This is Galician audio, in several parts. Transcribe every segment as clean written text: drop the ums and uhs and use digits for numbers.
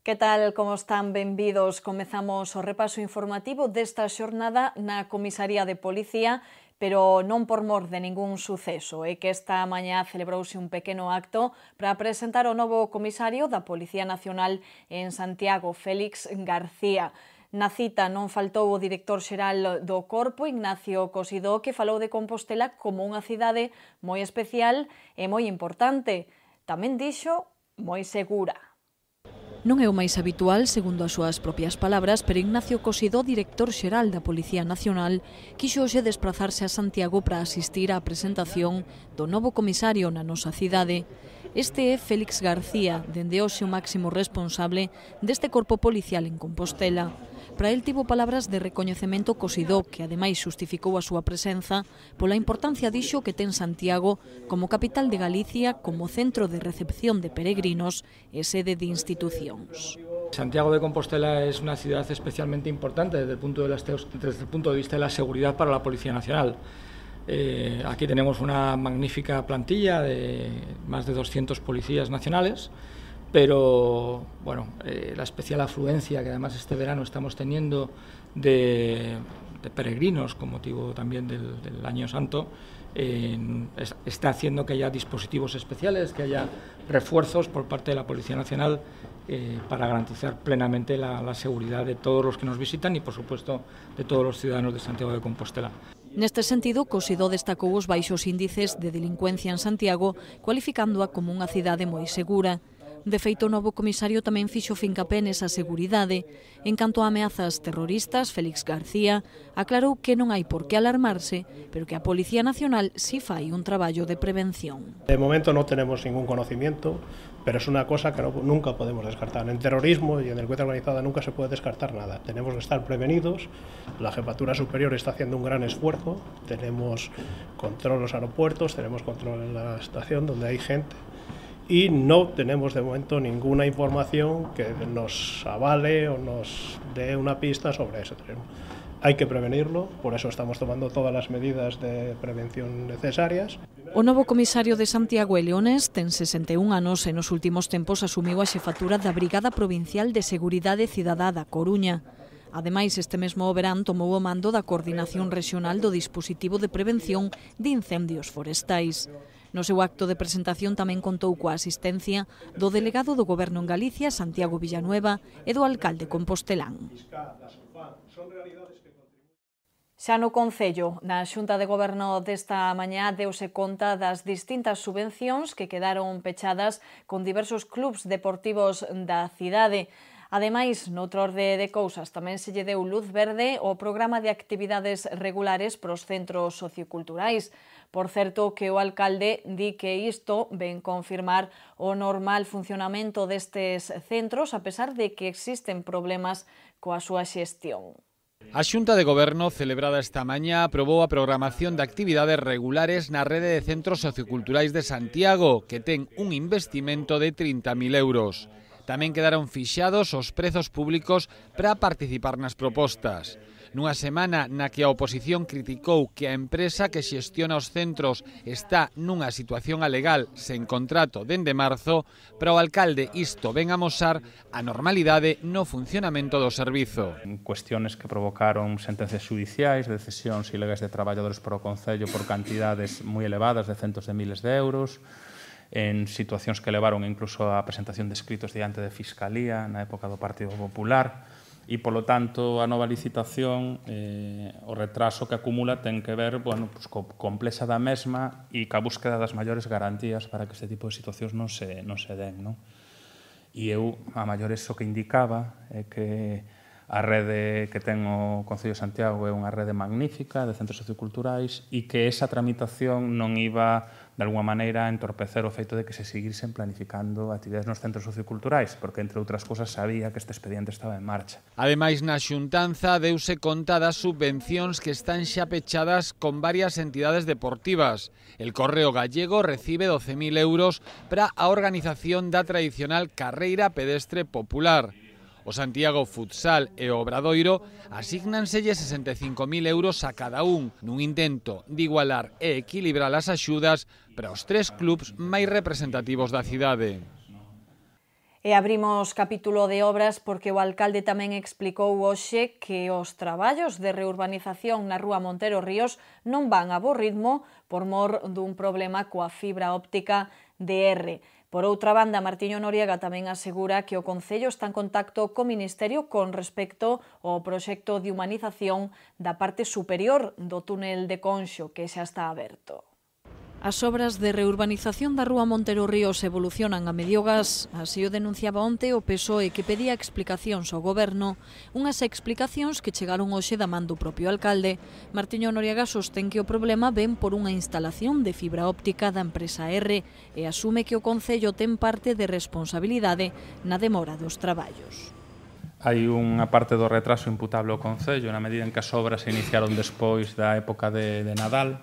Que tal, como están? Benvidos. Comezamos o repaso informativo desta xornada na Comisaría de Policía, pero non por mor de ningún suceso. É que esta mañá celebrouse un pequeno acto para presentar o novo comisario da Policía Nacional en Santiago, Félix García. Na cita non faltou o director xeral do Corpo, Ignacio Cosidó, que falou de Compostela como unha cidade moi especial e moi importante. Tamén dixo moi segura. Non é o máis habitual, segundo as súas propias palabras, pero Ignacio Cosidó, director xeral da Policía Nacional, quixo hoxe desplazarse a Santiago para asistir á presentación do novo comisario na nosa cidade. Este é Félix García, dende hoxe o máximo responsable deste corpo policial en Compostela. Para el tivo palabras de recoñecemento Cosidó, que ademais xustificou a súa presenza pola importancia dixo que ten Santiago como capital de Galicia, como centro de recepción de peregrinos e sede de institucións. Santiago de Compostela es una ciudad especialmente importante desde el punto de vista de la seguridad para la Policía Nacional. Aquí tenemos una magnífica plantilla de más de 200 policías nacionales, pero bueno, la especial afluencia que además este verano estamos teniendo de peregrinos con motivo también del Año Santo está haciendo que haya dispositivos especiales, que haya refuerzos por parte de la Policía Nacional para garantizar plenamente la seguridad de todos los que nos visitan y por supuesto de todos los ciudadanos de Santiago de Compostela. Neste sentido, Cosidó destacou os baixos índices de delincuencia en Santiago, cualificándoa como unha cidade moi segura. De feito, o novo comisario tamén fixo fincapé nesa seguridade. En canto a ameazas terroristas, Félix García aclarou que non hai por que alarmarse, pero que a Policía Nacional sí fai un traballo de prevención. De momento no tenemos ningún conocimiento, pero es una cosa que nunca podemos descartar. En terrorismo y en delincuencia organizada nunca se puede descartar nada. Tenemos que estar prevenidos. La Jefatura Superior está haciendo un gran esfuerzo. Tenemos control en los aeropuertos, tenemos control en la estación donde hay gente. Y no tenemos de momento ninguna información que nos avale o nos dé una pista sobre ese terreno. Hay que prevenirlo, por eso estamos tomando todas las medidas de prevención necesarias. O novo comisario de Santiago e Leones ten 61 anos e nos últimos tempos asumiu a xefatura da Brigada Provincial de Seguridade Cidadá da Coruña. Ademais, este mesmo verán tomou o mando da Coordinación Rexional do Dispositivo de Prevención de Incendios Forestais. No seu acto de presentación tamén contou coa asistencia do delegado do Goberno en Galicia, Santiago Villanueva, e do alcalde compostelán. Xa no Concello, na Xunta de Goberno desta mañá deuse conta das distintas subvencións que quedaron pechadas con diversos clubs deportivos da cidade. Ademais, noutro orde de cousas, tamén se lle deu luz verde ao programa de actividades regulares pros centros socioculturais. Por certo, que o alcalde di que isto ven confirmar o normal funcionamento destes centros, a pesar de que existen problemas coa súa xestión. A Xunta de Goberno, celebrada esta mañá, aprobou a programación de actividades regulares na rede de centros socioculturais de Santiago, que ten un investimento de 30.000 euros. Tamén quedaron fixados os prezos públicos para participar nas propostas. Nunha semana na que a oposición criticou que a empresa que xestiona os centros está nunha situación alegal sen contrato dende marzo, para o alcalde isto ven amosar a normalidade no funcionamento do servizo. Cuestiones que provocaron sentencias judiciais de cesións ilegais de traballadores para o Concello por cantidades moi elevadas de centos de miles de euros, en situacións que levaron incluso a presentación de escritos diante de Fiscalía na época do Partido Popular e, polo tanto, a nova licitación, o retraso que acumula ten que ver co complexa da mesma e ca búsqueda das maiores garantías para que este tipo de situacións non se den. E eu, a maiores, o que indicaba é que a rede que ten o Concello de Santiago é unha rede magnífica de centros socioculturais e que esa tramitación non iba, de alguma maneira, a entorpecer o feito de que se seguirsen planificando actividades nos centros socioculturais, porque, entre outras cousas, sabía que este expediente estaba en marcha. Ademais, na xuntanza deuse conta das subvencións que están xa pechadas con varias entidades deportivas. El Correo Gallego recibe 12.000 euros para a organización da tradicional carreira pedestre popular. O Santiago Futsal e o Obradoiro asígnanselle 65.000 euros a cada un nun intento de igualar e equilibrar as axudas para os tres clubs máis representativos da cidade. E abrimos capítulo de obras porque o alcalde tamén explicou hoxe que os traballos de reurbanización na rúa Montero Ríos non van a bo ritmo por mor dun problema coa fibra óptica de R. Por outra banda, Martiño Noriega tamén asegura que o Concello está en contacto co Ministerio con respecto ao proxecto de humanización da parte superior do túnel de Conxo, que xa está aberto. As obras de reurbanización da rúa Montero Ríos evolucionan a medio gas, así o denunciaba onte o PSOE, que pedía explicacións ao Goberno, unhas explicacións que chegaron hoxe da man do propio alcalde. Martiño Noriega sostén que o problema ven por unha instalación de fibra óptica da empresa R e asume que o Concello ten parte de responsabilidade na demora dos traballos. Hai unha parte do retraso imputable ao Concello na medida en que as obras se iniciaron despois da época de Nadal.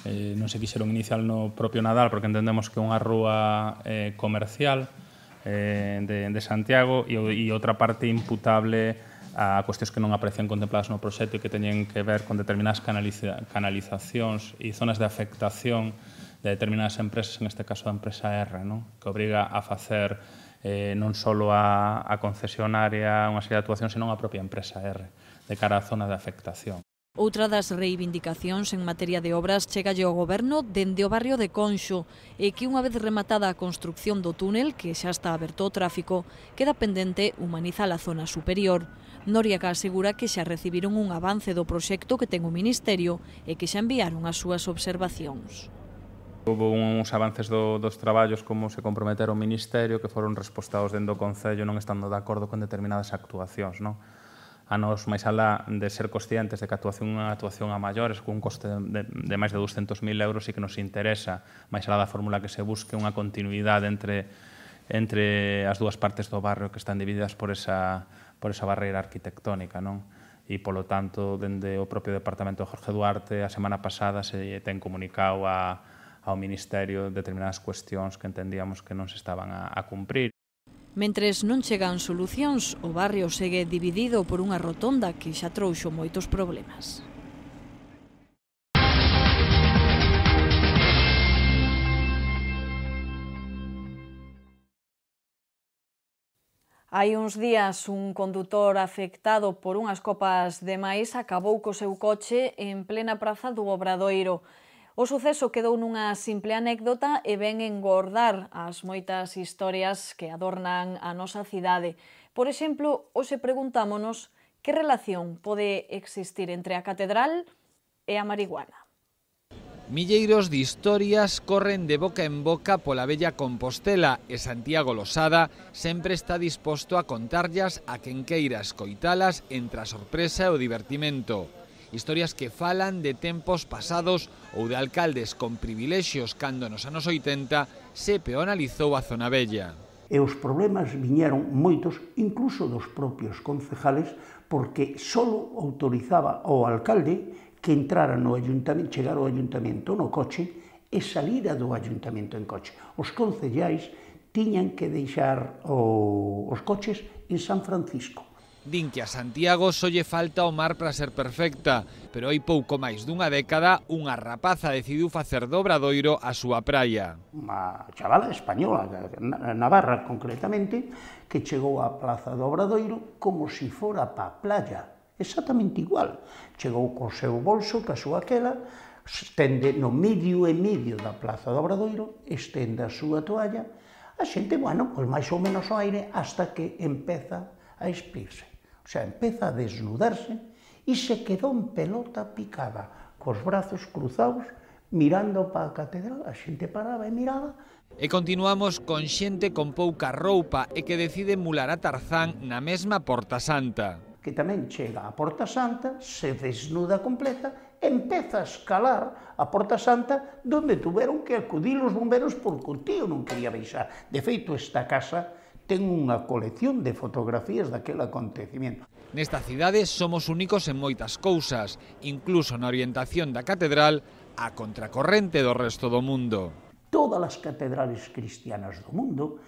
Non se quixeron iniciar no propio Nadal porque entendemos que é unha rúa comercial de Santiago e outra parte imputable a cuestións que non aparecían contempladas no proxecto e que teñen que ver con determinadas canalizacións e zonas de afectación de determinadas empresas, en este caso da empresa R, non? Que obriga a facer non só a concesionaria unha serie de actuacións, senón a propia empresa R, de cara á zona de afectación. Outra das reivindicacións en materia de obras chegalle ao Goberno dende o barrio de Conxo e que unha vez rematada a construcción do túnel, que xa está aberto ao tráfico, queda pendente humanizar a zona superior. Noriega asegura que xa recibiron un avance do proxecto que ten o Ministerio e que xa enviaron as súas observacións. Houve uns avances dos traballos como se comprometeron o Ministerio que foron respostados dentro do Concello non estando de acordo con determinadas actuacións, non? A nos, máis alá de ser conscientes de que unha actuación a maiores con un coste de máis de 200.000 euros e que nos interesa, máis alá da fórmula que se busque, unha continuidade entre as dúas partes do barrio que están divididas por esa barreira arquitectónica, non? E, polo tanto, dende o propio Departamento de Jorge Duarte, a semana pasada se ten comunicado ao Ministerio determinadas cuestións que entendíamos que non se estaban a cumprir. Mentres non chegan solucións, o barrio segue dividido por unha rotonda que xa trouxo moitos problemas. Hai uns días, un condutor afectado por unhas copas de maíz acabou co seu coche en plena praza do Obradoiro. O suceso quedou nunha simple anécdota e ven engordar as moitas historias que adornan a nosa cidade. Por exemplo, hoxe preguntámonos que relación pode existir entre a catedral e a marihuana. Milleiros de historias corren de boca en boca pola vella Compostela e Santiago Losada sempre está disposto a contarllas a quen queira escoitalas entre a sorpresa e o divertimento. Historias que falan de tempos pasados ou de alcaldes con privilexios cando nos anos 80 se peonalizou a zona vella. E os problemas viñeron moitos, incluso dos propios concejales, porque só autorizaba ao alcalde que entrara no ayuntamento, chegar ao ayuntamento no coche e salira do ayuntamento en coche. Os concellais tiñan que deixar os coches en San Francisco. Din que a Santiago só lle falta o mar para ser perfecta, pero hai pouco máis dunha década unha rapaza decidiu facer do Obradoiro a súa praia. Unha chavala española, navarra concretamente, que chegou á plaza do Obradoiro como se fora pa playa, exactamente igual. Chegou co seu bolso, ca súa aquela, estende no medio e medio da plaza do Obradoiro, estende a súa toalla, a xente, bueno, pois máis ou menos ao aire, hasta que empeza a espirse. O sea, empeza a desnudarse e se quedou en pelota picada, cos brazos cruzados, mirando para a catedral. A xente paraba e miraba. E continuamos con xente con pouca roupa e que decide emular a Tarzán na mesma Porta Santa. Que tamén chega á Porta Santa, se desnuda completa, empeza a escalar a Porta Santa, donde tuveron que acudir os bomberos porque o tío non quería baixar. De feito, esta casa ten unha colección de fotografías daquele acontecimiento. Nesta cidade somos únicos en moitas cousas, incluso na orientación da catedral a contracorrente do resto do mundo. Todas as catedrales cristianas do mundo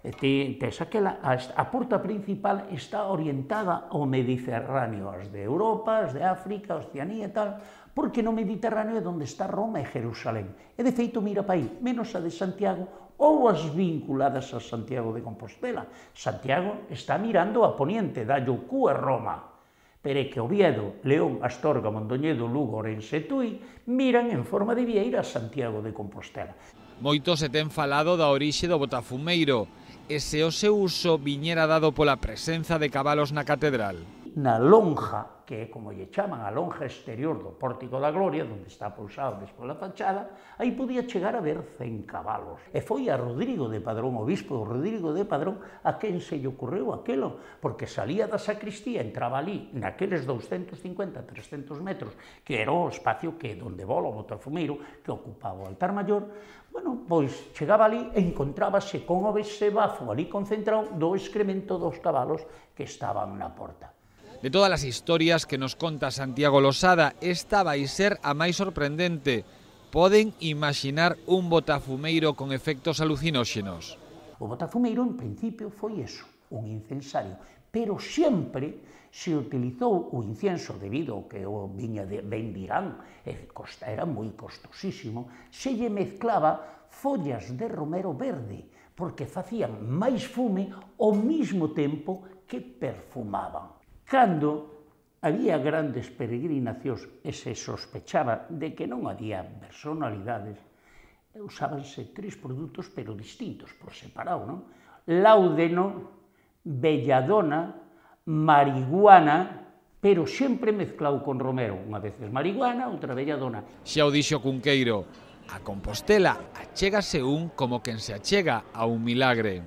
A porta principal está orientada ao Mediterráneo, as de Europa, as de África, Oceanía e tal, porque no Mediterráneo é onde está Roma e Jerusalén. E de feito mira para aí, menos a de Santiago ou as vinculadas a Santiago de Compostela. Santiago está mirando a poniente, da Cu e Roma. Pero é que Oviedo, León, Astorga, Mondoñedo, Lugo, Ourense e Tui miran en forma de vieira a Santiago de Compostela. Moito se ten falado da orixe do botafumeiro e se o seu uso viñera dado pola presenza de cabalos na catedral. Na lonja, que é como lle chaman a lonja exterior do Pórtico da Gloria, onde está pousado despois a fachada, aí podía chegar a ver 100 cabalos. E foi a Rodrigo de Padrón, o bispo Rodrigo de Padrón, a quen se lle ocurreu aquelo, porque salía da sacristía, entraba ali, naqueles 250, 300 metros, que era o espacio que donde vola o botafumeiro, que ocupaba o altar maior, bueno, pois chegaba ali e encontrábase con o bafo ali concentrado do excremento dos cabalos que estaban na porta. De todas as historias que nos conta Santiago Losada, esta vai ser a máis sorprendente. Poden imaginar un botafumeiro con efectos alucinóxenos. O botafumeiro, en principio, foi eso, un incensario, pero sempre se utilizou o incienso debido ao que o viña ben de Irán, era moi costosísimo, se lle mezclaba follas de romero verde, porque facían máis fume ao mesmo tempo que perfumaban. Cando había grandes peregrinacións e se sospechaba de que non había personalidades, usábanse 3 produtos pero distintos, por separado, non? Láudeno, belladona, marihuana, pero sempre mezclado con romero. Unha vez marihuana, outra belladona. Xa o dixo Cunqueiro, a Compostela achégase un como quen se achega a un milagre.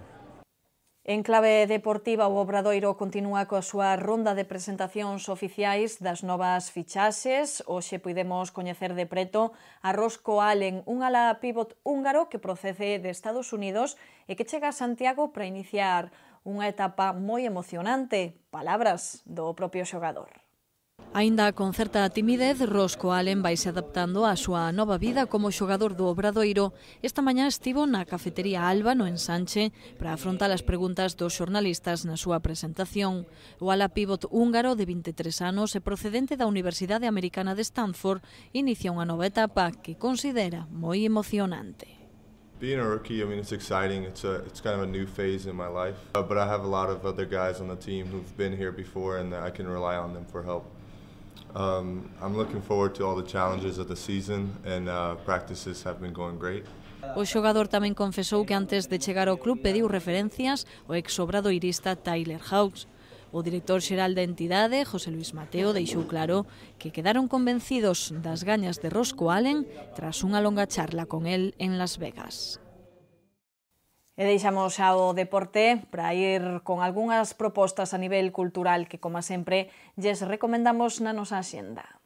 En clave deportiva, o Obradoiro continúa coa súa ronda de presentacións oficiais das novas fichaxes. Hoxe podemos coñecer de preto a Rosco Allen, un ala pívot húngaro que procede de Estados Unidos e que chega a Santiago para iniciar unha etapa moi emocionante. Palabras do propio xogador. Aínda con certa timidez, Rosco Allen vaise adaptando á súa nova vida como xogador do Obradoiro. Esta mañá estivo na cafetería Alba, no Ensanche, para afrontar as preguntas dos xornalistas na súa presentación. O ala pívot húngaro de 23 anos e procedente da Universidade Americana de Stanford inicia unha nova etapa que considera moi emocionante. Being a rookie, I mean, it's exciting. It's kind of a new phase in my life. But I have a lot of other guys on the team who've been here before, and I can rely on them for help. I'm looking forward to all the challenges of the season, and practices have been going great. O xogador tamén confesou que antes de chegar ao club pediu referencias ao ex-obradoirista Tyler Hawks. O director xeral da entidade, José Luis Mateo, deixou claro que quedaron convencidos das gañas de Rosco Allen tras unha longa charla con el en Las Vegas. E deixamos ao deporte para ir con algunhas propostas a nivel cultural que, como sempre, lles recomendamos na nosa axenda.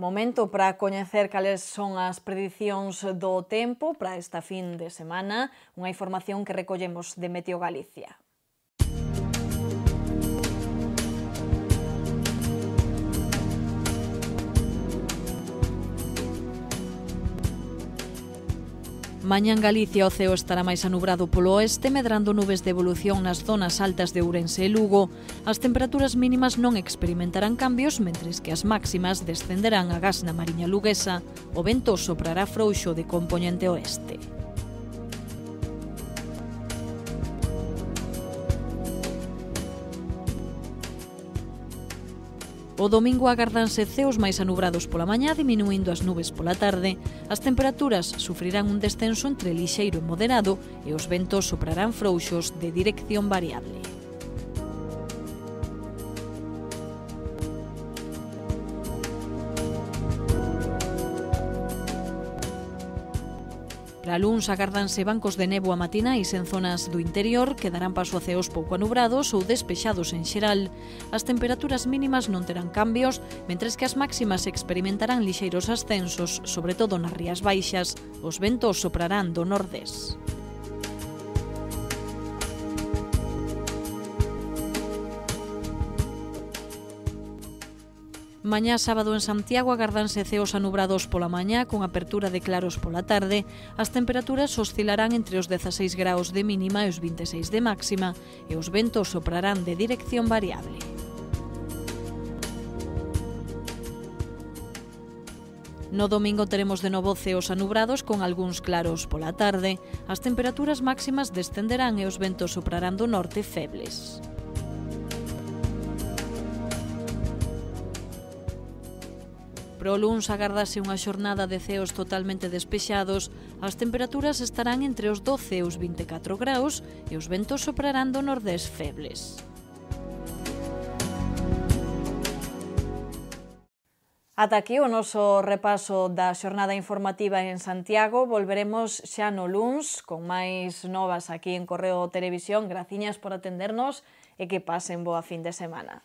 Momento para coñecer cales son as predicións do tempo para esta fin de semana, unha información que recollemos de Meteo Galicia. Mañá en Galicia o ceo estará máis anubrado polo oeste, medrando nubes de evolución nas zonas altas de Ourense e Lugo. As temperaturas mínimas non experimentarán cambios, mentres que as máximas descenderán agás na Mariña luguesa. O vento soprará frouxo de compoñente oeste. O domingo agardanse ceos máis anubrados pola mañá, diminuindo as nubes pola tarde. As temperaturas sufrirán un descenso entre lixeiro e moderado e os ventos soprarán frouxos de dirección variable. Para luns agardanse bancos de néboa matinais en zonas do interior que darán paso a ceos pouco anubrados ou despexados en xeral. As temperaturas mínimas non terán cambios, mentres que as máximas experimentarán lixeiros ascensos, sobre todo nas rías baixas. Os ventos soprarán do nordés. Mañá sábado en Santiago agardanse ceos anubrados pola mañá con apertura de claros pola tarde. As temperaturas oscilarán entre os 16 graus de mínima e os 26 de máxima e os ventos soprarán de dirección variable. No domingo teremos de novo ceos anubrados con algúns claros pola tarde. As temperaturas máximas descenderán e os ventos soprarán do norte febles. Pro luns agardase unha xornada de ceos totalmente despexados. As temperaturas estarán entre os 12 e os 24 graus e os ventos soprarán do nordés febles. Ata aquí o noso repaso da xornada informativa en Santiago. Volveremos xa no luns con máis novas aquí en Correo Televisión. Graciñas por atendernos e que pasen boa fin de semana.